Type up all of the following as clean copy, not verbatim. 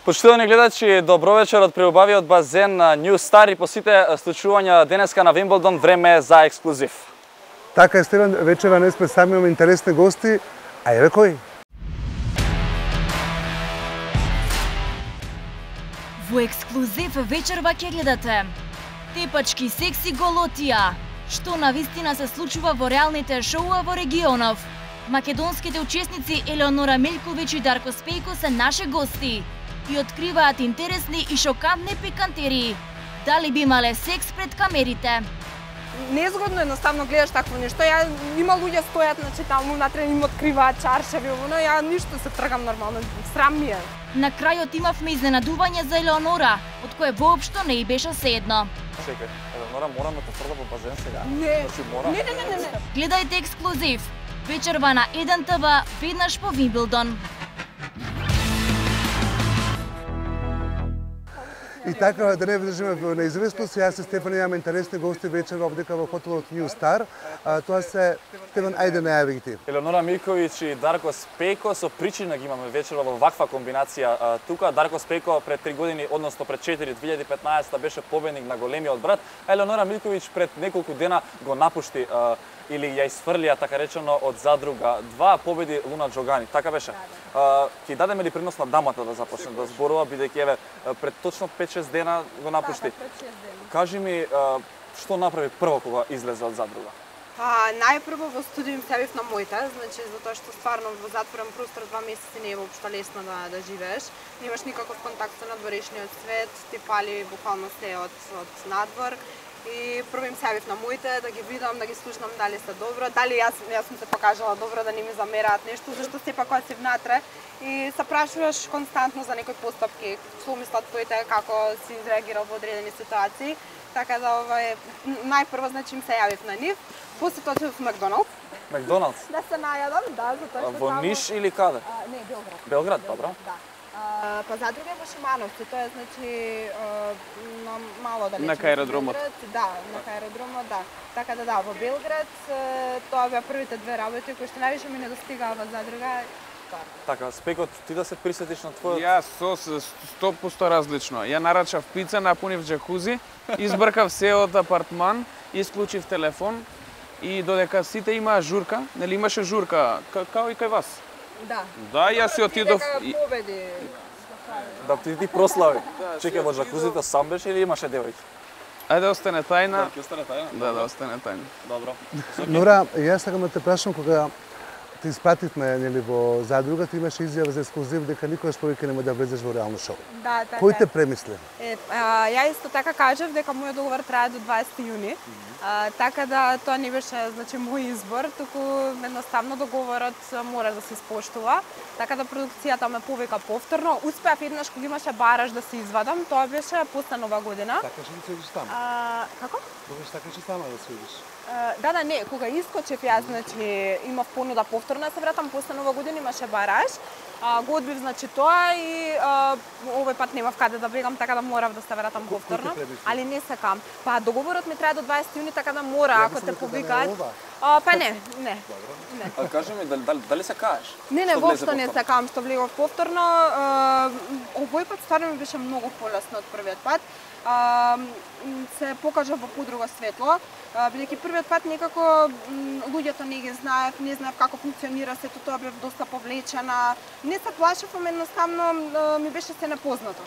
Почитувани гледачи, добро вечер од преубавиот базен на New Star и по сите случувања денеска на Вимблдон, време е за ексклузив. Така е, Стеван, вечера не сме сами, имаме интересни гости, а еве кој? Во ексклузив вечерва ќе гледате тепачки секси голотија, што навистина се случува во реалните шоуа во регионов. Македонските учесници Елеонора Милковиќ и Дарко Спејко се наши гости и откриваат интересни и шокантни пикантерии. Дали би имале секс пред камерите? Незгодно едноставно гледаш такво нешто. Има луѓе стојат, значи таму внатре им откриваат чаршави, ја ништо се тргам нормално, срам ми е. На крајот имавме изненадување за Елеонора, од кое воопшто не и беше седно. Чекај, Елеонора, морам да те фрла во базен сега. Не. Не. Гледајте ексклузив. Вечерва на 1 ТВ, веднаш по Вимблдон. И така, да не влежиме во неизвестност, јас и Стефан имаме интересни гости вечер овдека во хотелот New Star. Тоа се, Стефан, ајде најави ти. Елеонора Милковиќ и Дарко Спејко, со причина ги имаме вечерва во ваква комбинација тука. Дарко Спејко пред 3 години, односно пред 4, 2015 беше победник на големиот брат, а Елеонора Милковиќ пред неколку дена го напушти или ја изфрлија, така речено, од задруга. 2 победи Луна Џогани, така беше. Ќе дадеме ли принос на дамата да започне да зборува, бидејќи еве пред точно 5-6 дена го напушти. Кажи ми, што направи прво кога излезе од задруга? Најпрво во студиум се јавив на моите, значи затоа што стварно во затворен простор 2 месеци не е воопшто лесно да живееш. Немаш никаков контакт со надворешниот свет, ти пали буквално се од надвор. И прво им се јавив на моите, да ги видам, да ги слушнам дали се добро, дали јас сум се покажала добро, да не ми замераат нешто, зашто сепак кога си внатре и се прашуваш константно за некои постапки, што мислат твоите, како си изреагирал во одредени ситуации. Така да најпрво значи им се јавив на нив, после тоа отидов во Макдоналдс. Макдоналдс? Да се најадам, да, затоа што во Ниш или каде? Не, Белград. Белград, добро. Да. Па задруга во Шимановци, тоа е значи на мало далеч. На аеродромот. Да, на аеродромот, да. Така да, во Белград тоа беа првите 2 работи кои што највише ми недостигаа во задруга. Така, Спејко, ти да се присетиш на твојот... Јас 100% различно. Ја нарачав пица, напунив джакузи, избркав се од апартман, исклучив телефон и додека сите имаа журка, нели имаше журка, као и кај вас? Да. Да, јас си отидов... Победи. Да ти прослави. Чекај, во джакузито сам беше или имаше девојки? Ајде остане тајна. Ќе остане тајна? Да, остане тајна. Добро. Нора, јас сакам да те прашам, кога ти испративме нели во задруга, ти имаше изјава за ексклузив дека никогаш повеќе нема да влезеш во реално шоу. Да, така. Кој те премисли? Ја исто така кажав дека мојот договор трае до 20 јуни. Така да тоа не беше значи мој избор, туку едноставно договорот мора да се испоштува. Така да продукцијата ме повика повторно. Успеав еднаш кога имаше бараж да се извадам, тоа беше после Нова година. Така што се видиш таму? Како? Добиш така што таму да се видиш. Да, не, кога искочев јас, значи имав понуда повторно да се вратам после Нова година, имаше бараж. Го одбив значи тоа и овој пат немав каде да бегам, така да морав да се вратам повторно. Али не сакам. Па договорот ми трае до 20 јуни, така да мора ако те повикаат. Па не. А кажи ми, дали се каеш? Не, воопшто не сакам што влегов повторно. Овој пат стварно ми беше многу полесно од првиот пат. Се покажа во подруго светло, бидејќи првиот пат некако луѓето не ги знаев, не знаев како функционира сето тоа, бев доста повлечена. Не се плашев, едноставно ми беше се непознато.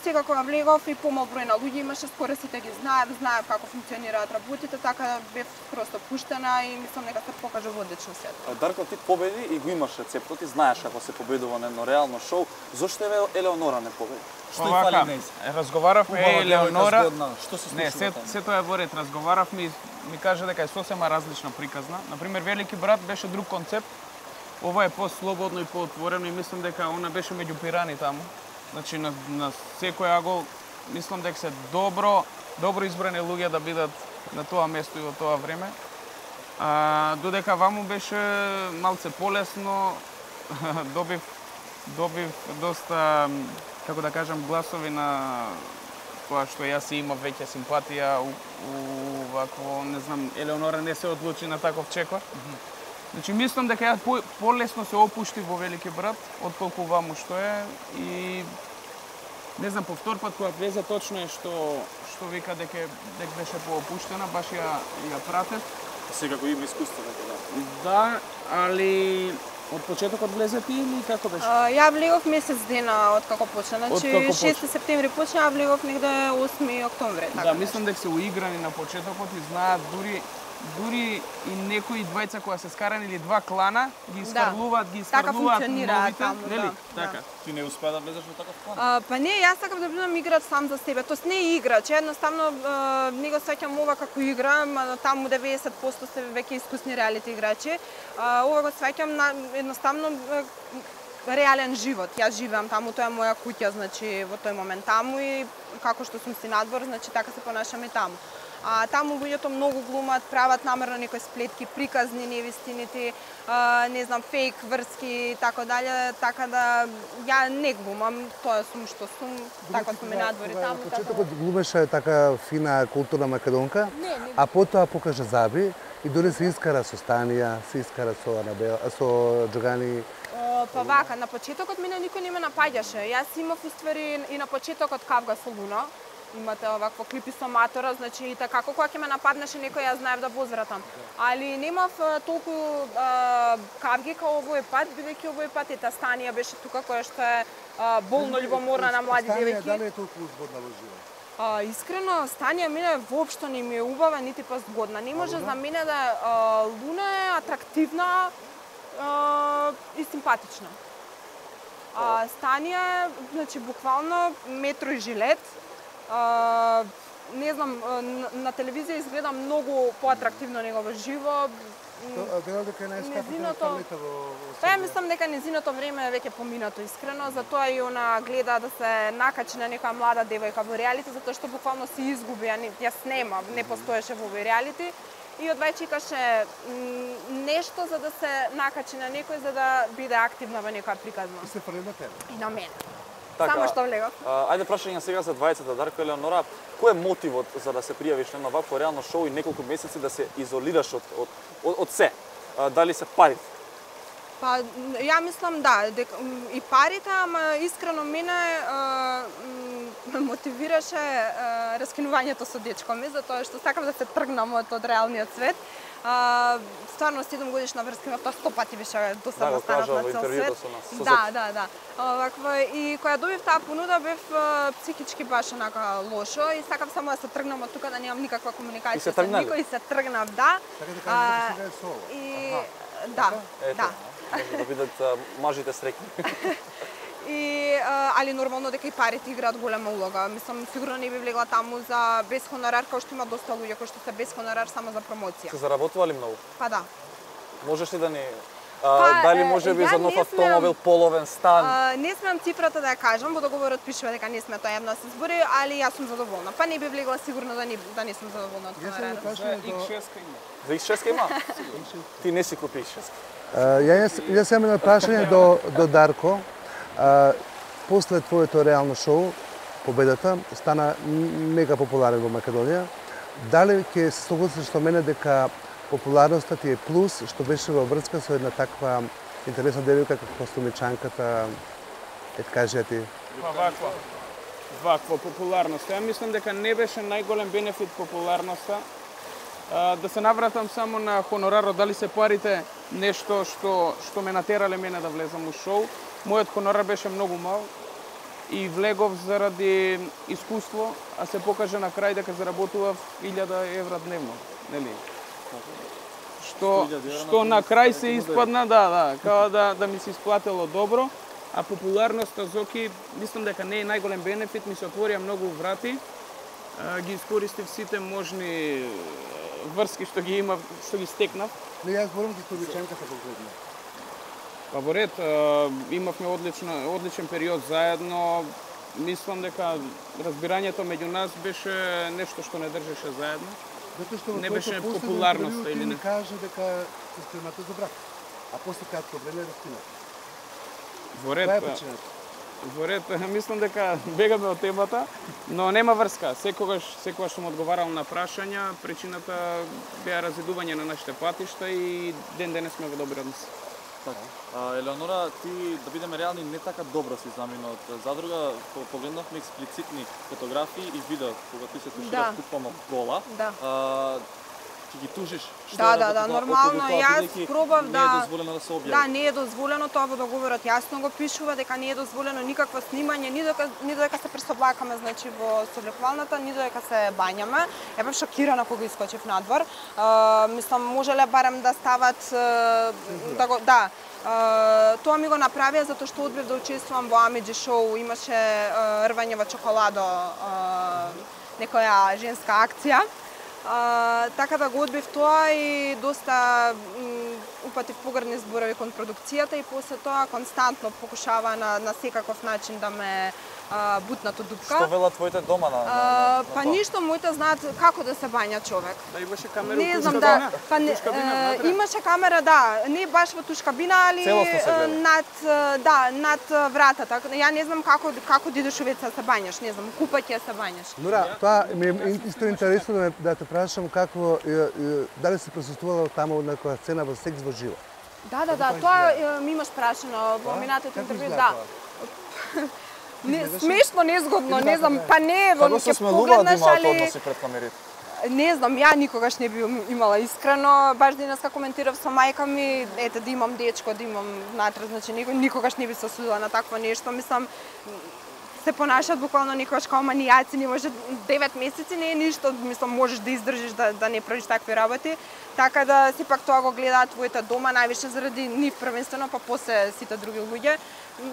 Сега кога влегов и помал број на луѓе имаше, скоро сите ги знаев како функционираат работите, така бев просто пуштена и мислам дека се покажа во одлично свет. Дарко, ти победи и го имаш рецептот, ти знаеш како се победува на едно реално шоу. Зошто Елеонора не победи? Што фали днес? Разговаравме Елеонора. Што се случува? Не, се тоа е во ред. Разговаравме и ми кажа дека е сосема различна приказна. Например, Велики брат беше друг концепт. Ова е по-слободно и по-отворено и мислам дека она беше меѓу пирани таму. Значи на секој агол мислам дека се добро избрани луѓе да бидат на тоа место и во тоа време. Додека ваму беше малце полесно, добив доста, како да кажам, гласови на тоа што јас имав веќе симпатија вакво, не знам, Елеонора не се одлучи на таков чекор. Значи, мислам дека ја полесно се опушти во Велики брат, отколку ваму што е, и Не знам, по втор пат кога влезе точно е што вика дека беше поопуштена, баш ја пратев. Секако има искуство, да. Да, али од почетокот влезе ти или како беше? Ја влегов месец дена од како почна. Значи 6 септември почна, ја влегов негде 8 октомври. Да, мислам дека се уиграни на почетокот и знаат дури и некои двајца кои се скарани или два клана ги искарлуваат, така функционира таму, нели? Да. Така. Ти не успеа да влезеш во таков клан? Па не, јас сакам да бидам играч сам за себе. Тоест не играч, едноставно не го сваќам ова како игра, таму 90% се веќе искусни реалити играчи. Ова го сваќам на едноставно реален живот. Јас живеам таму, тоа е моја куќа, значи во тој момент таму и како што сум си надвор, значи така се понашаме таму. Таму луѓето многу глумат, прават намерно некои сплетки, приказни невистините, не знам, фейк врски и така дале, така да ја не глумам, тоа сум што сум, така сум и надвори таму. На почетокот глумеше така фина културна македонка, а потоа покажа заби и дори се искара со Станија, се искара со Анабел, со Џогани. Па вака, на почетокот мене никој не ме напаѓаше. Јас имав уствари и на почетокот кавга со Луна. Имате овакво клипи со матора, значи и така кога ќе ме нападнеше некој, јас знаев да возвратам. Али немав толку кавги као овој пат, бидејќи овој пат и Станија беше тука, која што е болно љубоморна на млади девојки. Станија дали е толку згодна во живот? Искрено, Станија мене воопшто не ми е убава, нити па згодна. Не може за мене да Луна е атрактивна и симпатична. Станија, значи буквално метро и жилет. Не знам, на телевизија изгледа многу поатрактивно него во живо. Велел дека е најскапата во Па ја мислам дека незиното време е веќе поминато, искрено, затоа и она гледа да се накачи на некоја млада девојка во реалити, затоа што буквално се изгуби, јас нема, не постоеше во овој реалити. И одвај чекаше нешто за да се накачи на некој, за да биде активна во некоја приказна. И се фрли на тебе. И на мене. Така, Само што влегов. Ајде прашање сега за двајцата, Дарко и Елеонора. Кој е мотивот за да се пријавиш на вакво реално шоу и неколку месеци да се изолираш од се? Дали се парите? Па, ја мислам да, и парите, ама искрено мене мотивираше раскинувањето со дечко ми, затоа што сакам да се тргнам од реалниот свет. Стварно 7 годишна врска имав, тоа 100 пати беше досадно станав на цел свет. Да. Оваква, и кога добив таа понуда бев психички баш онака лошо и сакам само да се тргнам од тука, да немам никаква комуникација со никој, и се тргнав, да. Така да кажеш дека сега е соло. И да. Може да бидат мажите среќни. Али нормално дека и парите играат голема улога. Мислам, сигурно не би влегла таму за без хонорар, као што има доста луѓе кои што се без хонорар само за промоција. Се заработува ли многу? Па да. Можеш ли да ни дали може би за нов автомобил, половен стан? Не смеам цифрата да ја кажам, во договорот пишува дека не сме тоа јавно да се збори, али јас сум задоволна. Па не би влегла сигурно да не сум задоволна од хонорарот. За X6 има. За X6 има? Ти не си купи X6. Јас имам едно прашање до Дарко. После твоето реално шоу, Победата, стана мега популарен во Македонија. Дали ќе се согласиш со мене дека популарноста ти е плюс што беше во врска со една таква интересна девојка како Сумичанката, кажа ти? Па ваква популарност. Ја мислам дека не беше најголем бенефит популарноста. Да се навратам само на хонорарот, дали се парите нешто што ме натерале мене да влезам у шоу. Мојот хонорар беше многу мал и влегов заради искуство, а се покажа на крај дека заработував 1000 евра дневно, нели? Што на крај се испадна, као да ми се исплатело добро, а популарноста Зоки, мислам дека не е најголем бенефит, ми се отворија многу врати, ги искористив сите можни врски што ги имав, што ги стекнав. Не, јас зборам за Сумичанката конкретно. Па во ред, имавме одличен период заедно. Мислам дека разбирањето меѓу нас беше нешто што не држеше заедно. Затоа што не беше популарноста или не. Каже дека се спремате за брак. А после кратко време раскинат. Во ред, мислам дека бегаме од темата, но нема врска. Секогаш сум одговарал на прашања, причината беа разидување на нашите патишта и ден денес сме во добри односи. Елеонора, ти, да бидеме реални, не така добро си замина од задруга. Погледнавме експлицитни фотографии и видео кога ти се тушираш буквално гола. Ти ги тужиш? Да, нормално. Јас пробав Не е дозволено да се објави. Да, не е дозволено, тоа во договорот јасно го пишува дека не е дозволено никакво снимање, ни додека се пресоблакаме, значи во соблекувалната, ни додека се бањаме. Ја бев шокирана кога искочив надвор. Мислам, можеле барем да стават тоа ми го направија затоа што одбив да учествувам во Амиџи шоу, имаше рвање во чоколадо, некоја женска акција. Така да го одбив тоа и доста упатив погрдни зборови кон продукцијата и после тоа константно покушава на секаков начин да ме бутнато дупка. Што велат твоите дома на па ништо, моите знаат како да се бања човек. Да имаше камера не во знам, туш имаше камера, да, не баш во туш кабина, али над вратата. Ја не знам како да идеш увеќе се бањаш, не знам, купање се бањаш. Нора, тоа ми е исто интересно да те прашам како дали си присуствувала таму на некоја сцена во секс во живо? Да, тоа ми имаш прашано во минатото интервју, да. Смешно, незгодно, не знам, па не, ќе погледнаш, али... Не знам, ја никогаш не би имала искрено, баш денеска коментирав со мајка ми, ете да имам дечко, да имам внатре, значи никогаш не би се осудила на такво нешто, мислам, се понашат буквално никогаш као манијаци, не може 9 месеци не е ништо, мислам можеш да издржиш да не правиш такви работи, така да сепак тоа го гледаат твоите дома највише заради нив првенствено, па после сите други луѓе.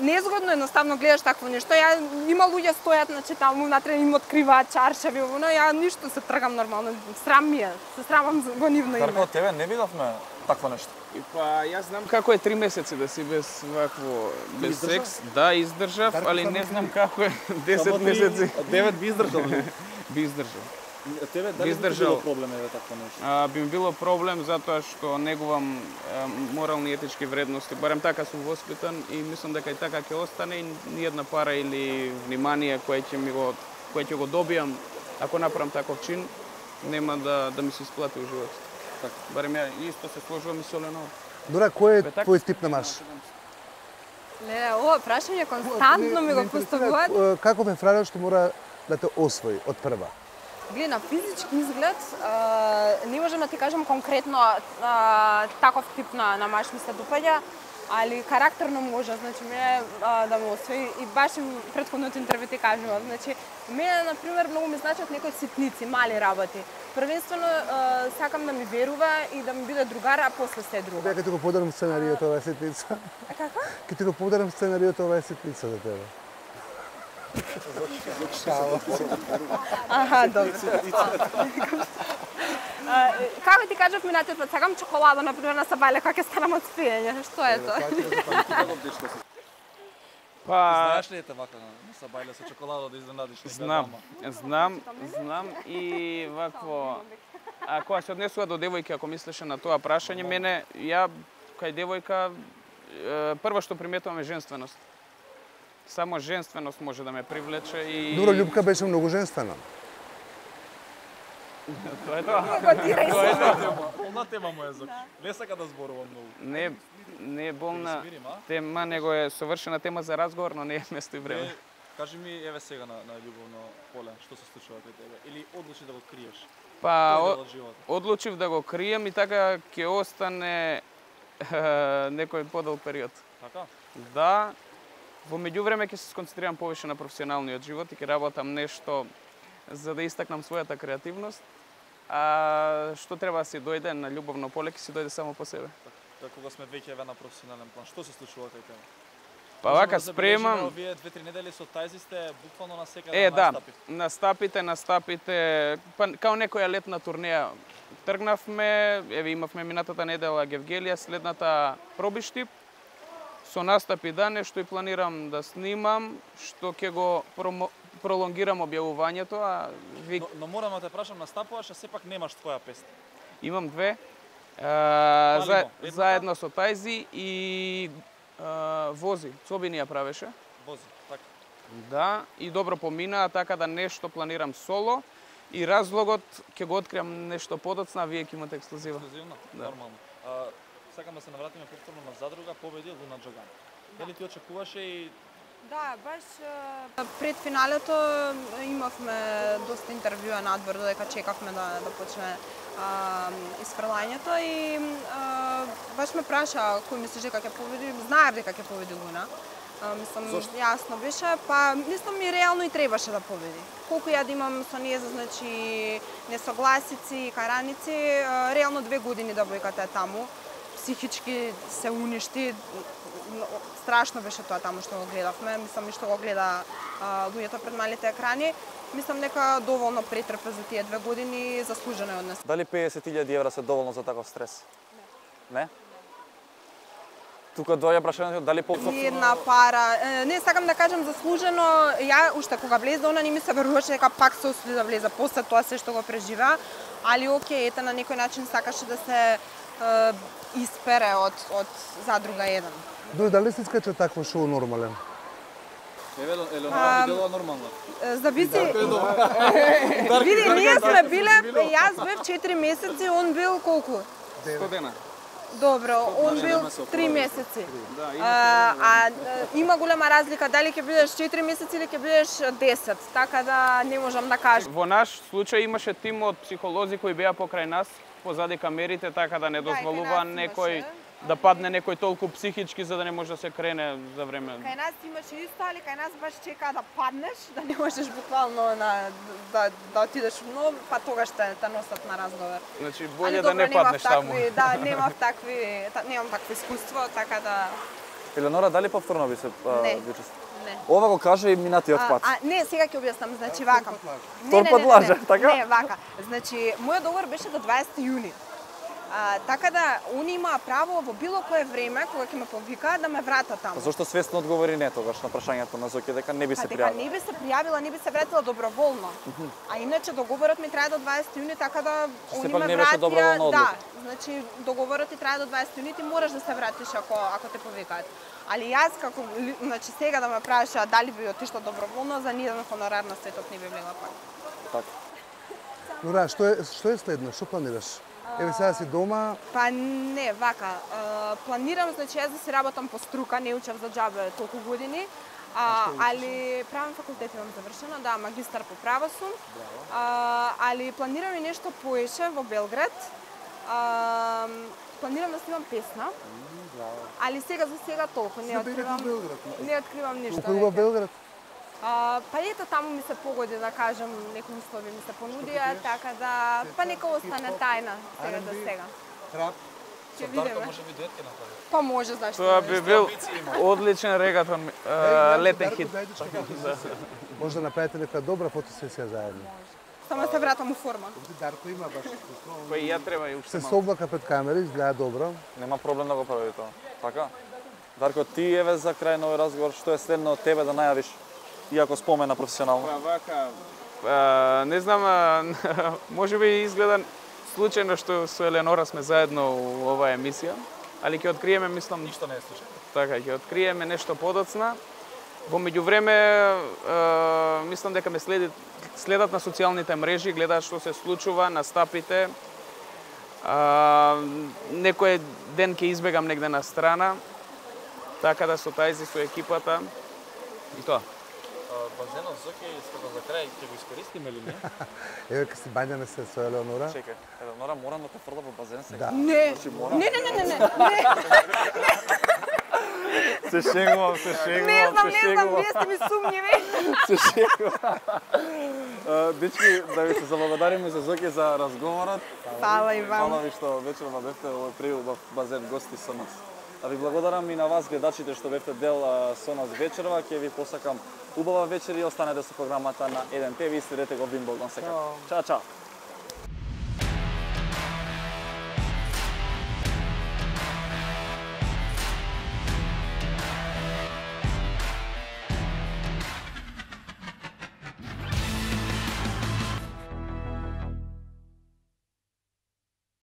Незгодно едноставно гледаш такво нешто. Има луѓе стојат, значи таму внатре им откриваат чаршави, ја ништо се тргам нормално. Срам ми е, се срамам во нивно име. Дарко, тебе не видовме такво нешто. Па јас знам како е 3 месеци да си без вакво без секс. Да, издржав, али не знам како е 10 месеци. 9 би издржал. Би издржал. Тебе дали би било проблем еве такво нешто? Би било проблем затоа што негувам морални и етички вредности. Барем така сум воспитан и мислам дека и така ќе остане и ни една пара или внимание кое ќе го добијам ако направам таков чин, нема да ми се исплати во животот. Така, барем ја исто се сложувам и со Елеонора. Нора, кој е твој тип на маж? Леле, ова прашање константно ми го поставуваат. Како ме фралеш што мора да те освои од прва? Гледа, на физички изглед, не можам да ти кажам конкретно таков тип на маж ми се допаѓа, али карактерно може, значи мене да ме освои и баш им претходното интервју ти кажувам, значи мене например многу ми значат некои ситници, мали работи. Првенствено сакам да ми верува и да ми биде другар, а после се друго. Дека ти го подарам сценариото ова е ситница. Како? Ке ти го подарам сценариото ова е ситница за тебе. Аха, добро. Како ти кажав минатиот пат, сакам чоколадо, например, на Сабајле, кога ќе станам од спиење. Што е тоа? Знаеш ли ете вака на Сабајле со чоколадо да изненадиш? Знам и вакво... А кога се однесува до девојки, ако мислеше на тоа прашање, мене, ја кај девојка, прво што приметувам е женственост. Само женственост може да ме привлече и... Добро, Љупка беше многу женствена. Тоа е тоа. Полна тема му е за... Не сака да зборува многу. Не е болна тема, него е совршена тема за разговор, но не е место и време. Кажи ми, еве сега на љубовно поле, што се случува кај тебе? Или одлучи да го криеш? Па, одлучив да го крием и така ќе остане некој подолг период. Така? Да. Во меѓувреме ќе се сконцентрирам повеќе на професионалниот живот и ќе работам нешто за да истакнам својата креативност. А што треба да си дојде на љубовно поле, ќе си дојде само по себе. Така, кога сме веќе на професионален план, што се случува кај тебе? Па вака спремам. Овие 2-3 недели со тајзи сте буквално на секаде на настапите, па као некоја летна турнеја. Тргнавме, еве имавме минатата недела Гевгелија, следната Пробиштип. Со настапи да нешто и планирам да снимам, што ќе го пролонгирам објавувањето, а Но морам да те прашам, настапуваш, а сепак немаш твоја песна. Имам две. Заедно со тајзи и Вози, Цобини ја правеше. Вози, така. Да, и добро помина, така да нешто планирам соло и разлогот ќе го откриам нешто подоцна, а вие ќе имате ексклузива. Ексклузивно? Да. Нормално. сакам да се навратиме повторно на задруга, победи Луна Џоган. Дали ти очекуваше и Да, баш пред финалето имавме доста интервјуа надвор додека чекавме да почне исфрлањето и баш ме праша кој мислиш дека ќе победи, знаев дека ќе победи Луна. Мислам, јасно беше, па мислам и реално и требаше да победи. Колку ја да имам со неја, значи несогласици и караници, реално 2 години девојката е таму. Психички се уништи, страшно беше тоа таму што го гледавме, мислам и што го гледа луѓето пред малите екрани. Мислам дека доволно претрпе за тие 2 години, заслужено е од нас. дали 50.000 евра се доволно за таков стрес? Не? Тука доаѓа прашањето дали повторно Една пара. Не сакам да кажам заслужено. Ја уште кога влезе она не ми се веруваше дека пак се осуди да влезе после тоа се што го преживеа, али окей, ете на некој начин сакаше да се испере од задруга 1. Дали се искача такво шоу нормален? Елеонора делува нормално. Зависи. Види, ние сме биле, јас бев 4 месеци, он бил колку? 100 дена. Добро, он бил 3 месеци. Има голема разлика дали ќе бидеш 4 месеци или ќе бидеш 10, така да не можам да кажам. Во наш случај имаше тим од психолози кои беа покрај нас, позади камерите, така да не дозволува некој да падне некој толку психички за да не може да се крене за време. Кај нас имаше исто, али кај нас баш чека да паднеш, да не можеш буквално да отидеш но, па тогаш те носат на разговор. Значи боле да не паднеш таму. Да, немам такво искуство, така да Елеонора, дали повторно би се Не. Не. Ова го кажа и минатиот пат. Не, сега ќе објаснам, значи вака. Втор пат лаже, така? Не, вака. Значи, мојот договор беше до 20 јуни. Така да, они имаа право во било кое време, кога ќе ме повикаат, да ме вратат таму. Зошто свесно одговори не тогаш на прашањето на Зоки дека не би се Дека пријавила? не би се пријавила, не би се вратила доброволно. А иначе договорот ми трае до 20 јуни, така да они Сепак ме не беше доброволна вратија. одлука. Да, значи договорот ти трае до 20 јуни, ти мораш да се вратиш ако те повикаат. Али јас како значи сега да ме прашаат дали би отишла доброволно, за ниеден хонорар на светот не би влегла пак. Така. Нора, што е следно? Што планираш? Еве сега си дома, Па не, вака. Планирам, значи јас да си работам по струка, не учам за џабе толку години. Али правен факултет имам завршено, да, магистар по право сум. Али планирам и нешто поише во Белград. Планирам да снимам песна. Али сега за сега толку не откривам. Не откривам ништо. колку во веќе. Белград? Па ето таму ми се погоди да кажам, некои услови ми се понудија, така да па нека остане тајна сега за сега. Ќе видиме. Па може, зашто Тоа не? би бил одличен регатон летен хит. Може да направите нека добра фотосесија заедно. Само се вратам у форма. Дарко има баш Кој ја треба и уште се малку. собака пред камери, изгледа добро. Нема проблем да го прави тоа. Така? Дарко, ти еве за крај на овој разговор, што е следно од тебе да најавиш, иако спомена професионално? Па вака, не знам, може би изгледа случајно што со Елеонора сме заедно у оваа емисија, али ќе откриеме, мислам, Ништо не е случајно. така, ќе откриеме нешто подоцна. Во меѓувреме, мислам дека ме следат на социјалните мрежи, гледаат што се случува, настапите. Некој ден ќе избегам негде на страна, така да со тајзи со екипата. И тоа. Базенот Зоки, скако за крај, ќе го искористиме или не? Еве ка си бањаме се со Елеонора. Чекај, Елеонора мора да те фрла во базен сега. Да. Не, мора. не. Се шегувам, Не знам, вие сте ми сумњиви. Се шегувам. Дечки, да ви се заблагодариме за Зоки за разговорот. Фала и вам. Фала ви што вечерва бевте овој пријул во базен гости со нас. А ви благодарам и на вас гледачите што бевте дел со нас вечерва. Ќе ви посакам убава вечер и останете со програмата на 1 ТВ и следете го Вин Богдан секако. Чао, чао.